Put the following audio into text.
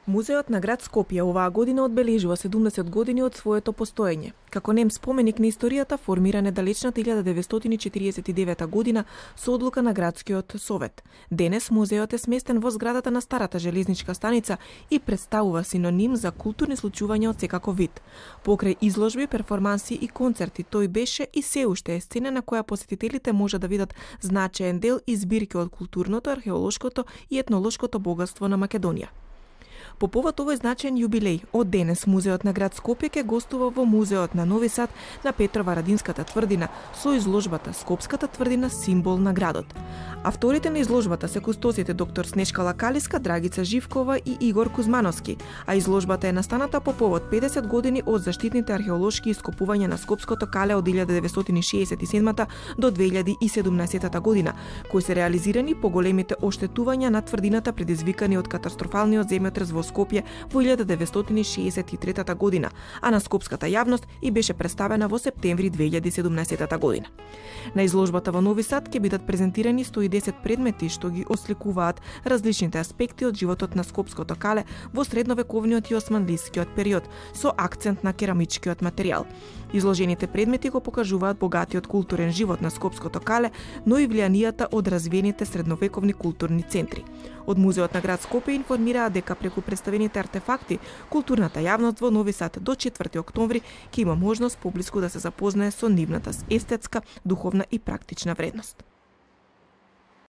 Музеот на град Скопје оваа година одбележува 70 години од своето постоење. Како нем споменик на историјата, формиран е далечната 1949 година со одлука на градскиот совет. Денес музеот е сместен во зградата на старата железничка станица и представува синоним за културни случувања од секаков вид. Покрај изложби, перформанси и концерти, тој беше и се уште е сцена на која посетителите може да видат значаен дел и збирки од културното, археолошкото и етнолошкото богатство на Македонија. По повод овој значаен јубилеј, од денес Музеот на град Скопје ќе гостува во Музеот на Нови Сад на Петрова-Радинската тврдина со изложбата Скопската тврдина символ на градот. Авторите на изложбата се кустосите доктор Снежка Лакалиска, Драгица Живкова и Игор Кузмановски, а изложбата е настаната по повод 50 години од заштитните археолошки ископувања на Скопското кале од 1967 до 2017 година, кои се реализирани по големите оштетувања на тврдината предизвикани од катастрофалниот земјотрес во Скопје во 1963 година, а на скопската јавност и беше представена во септември 2017 година. На изложбата во Нови Сад ќе бидат презентирани 110 предмети што ги осликуваат различните аспекти од животот на Скопското кале во средновековниот и османлискиот период, со акцент на керамичкиот материјал. Изложените предмети го покажуваат богатиот културен живот на Скопското кале, но и влијанијата од развиените средновековни културни центри. Од Музеот на град Скопје информираат дека преку представените артефакти, културната јавност во Нови Сад до 4 октомври ќе има можност поблиску да се запознае со нивната естетска, духовна и практична вредност.